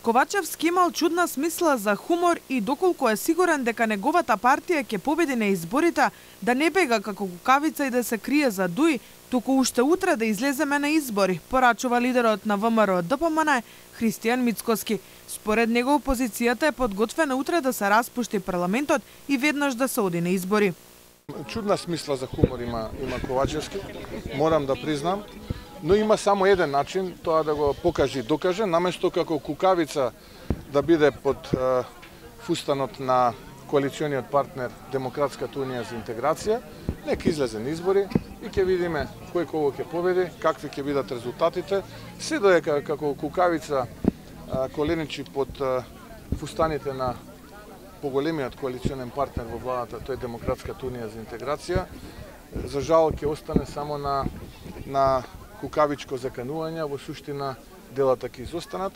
Ковачевски имал чудна смисла за хумор и доколку е сигурен дека неговата партија ќе победи на изборите, да не бега како кукавица и да се крие за дуи, туку уште утре да излеземе на избори, порачува лидерот на ВМРО ДПМН Христијан Мицкоски. Според него опозицијата е подготвена утре да се распушти парламентот и веднаш да се оди на избори. Чудна смисла за хумор има Ковачевски, морам да признам, но има само еден начин тоа да го покаже и докаже, наместо како кукавица да биде под фустанот на коалициониот партнер Демократската унија за интеграција, нека излезе на избори и ќе видиме кој кого ќе победи, какви ќе бидат резултатите, се додека како кукавица коленичи под фустаните на поголемиот коалиционен партнер во владата, тој Демократската унија за интеграција, за жал ќе остане само на кукавичко заканување, во суштина делата ќе изостанат.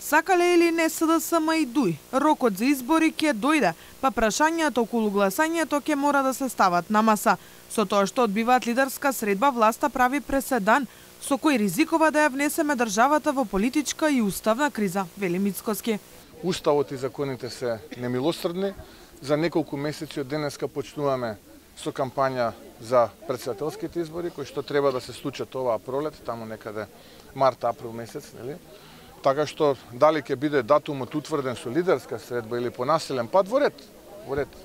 Сакале или не СДСМ и ДУИ, рокот за избори ќе дојде, па прашањата околу гласањето ќе мора да се стават на маса. Со тоа што одбиваат лидерска средба, власта прави преседан, со кој ризикува да ја внесеме државата во политичка и уставна криза, вели Мицкоски. Уставот и законите се немилосрдни. За неколку месеци од денеска почнуваме со кампања за претседателските избори, кои што треба да се случат оваа пролет, таму некаде март-април месец, нели? Така што дали ќе биде датумот утврден со лидерска средба или по населен пат, во ред.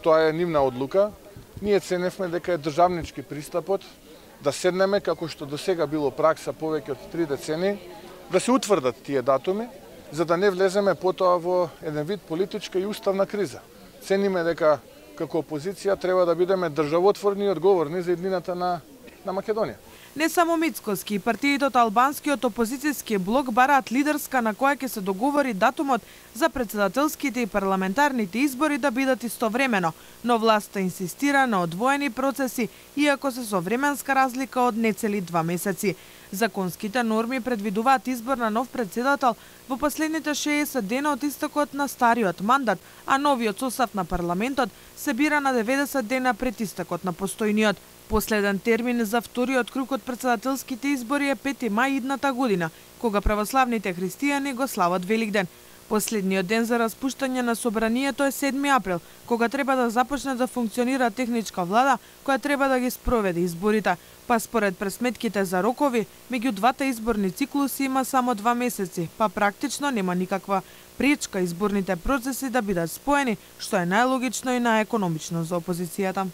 Тоа е нивна одлука. Ние ценевме дека е државнички пристапот да седнеме, како што до сега било пракса повеќе од 3 децени, да се утврдат тие датуми, за да не влеземе потоа во еден вид политичка и уставна криза. Цениме дека како опозиција треба да бидеме државотворни и одговорни за иднината на Македонија. Не само Мицкоски, партиите од албанскиот опозицијски блок бараат лидерска на која ќе се договори датумот за претседателските и парламентарните избори да бидат истовремено, но власта инсистира на одвоени процеси, иако се со временска разлика од нецели 2 месеци. Законските норми предвидуваат избор на нов претседател во последните 60 дена од истекот на стариот мандат, а новиот состав на парламентот се бира на 90 дена пред истекот на постојниот. Последен термин за вториот круг од претседателските избори е 5 мај идната година, кога православните христијани го слават Великден. Последниот ден за распуштање на собранието е 7 април, кога треба да започне да функционира техничка влада која треба да ги спроведе изборите. Па според пресметките за рокови, меѓу двата изборни циклуси има само 2 месеци, па практично нема никаква пречка изборните процеси да бидат споени, што е најлогично и најекономично за опозицијата.